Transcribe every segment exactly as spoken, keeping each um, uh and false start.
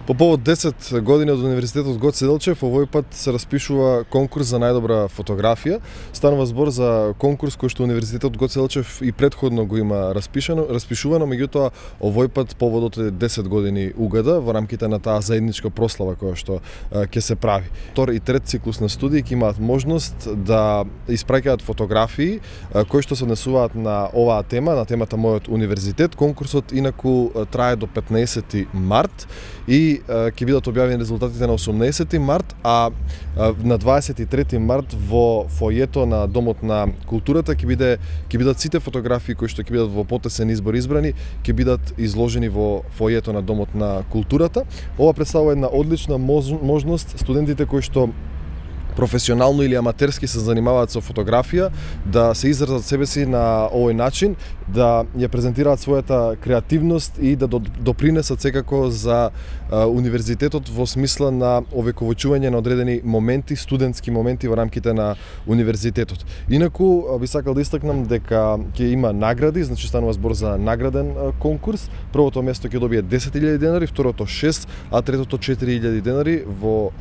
По повод десет години од Универзитетот Гоце Делчев, овој пат се распишува конкурс за најдобра фотографија. Станува збор за конкурс кој што Универзитетот Гоце Делчев и претходно го има распишано, распишувано, меѓутоа овој пат поводот е десет години угада во рамките на таа заедничка прослава која што ќе се прави. Втор и трет циклус на студии ќе имаат можност да испраќаат фотографии кои што се однесуваат на оваа тема, на темата Мојот универзитет. Конкурсот инаку трае до петнаесети март и ќе бидат објавени резултатите на осумнаесети март, а на дваесет и трети март во фојето на Домот на културата ќе биде ќе бидат сите фотографии кои што ќе бидат во потесен избор избрани, ќе бидат изложени во фојето на Домот на културата. Ова представува една одлична можност студентите кои што професионално или аматерски се занимаваат со фотографија, да се изразат себе си на овој начин, да ја презентираат својата креативност и да допринесат секако за универзитетот во смисла на овековочување на одредени моменти, студентски моменти во рамките на универзитетот. Инаку би сакал да истакнам дека ќе има награди, значи станува збор за награден конкурс. Првото место ќе добие десет илјади денари, второто шест, а третото четири илјади денари во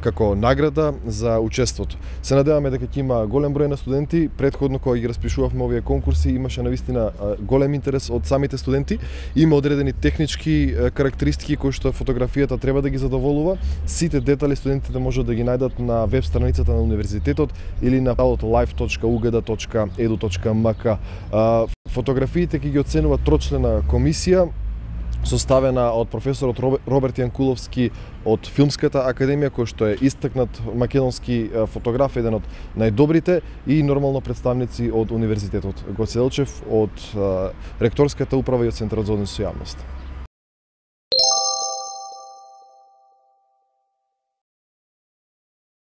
како награда за учеството. Се надеваме дека ќе има голем број на студенти. Претходно кога ги распишувавме овие конкурси имаше навистина голем интерес од самите студенти. Има одредени технички карактеристики кои што фотографијата треба да ги задоволува. Сите детали студентите можат да ги најдат на веб страницата на универзитетот или на live точка u g d точка e d u точка m k. Фотографиите ќе ги оценува трочлена комисија составена од професорот Роберт Јанкуловски од Филмската академија, кој што е истакнат македонски фотограф, еден од најдобрите, и нормално представници од Универзитетот Гоце Делчев, од ректорската управа и од Центарот за односи со јавност.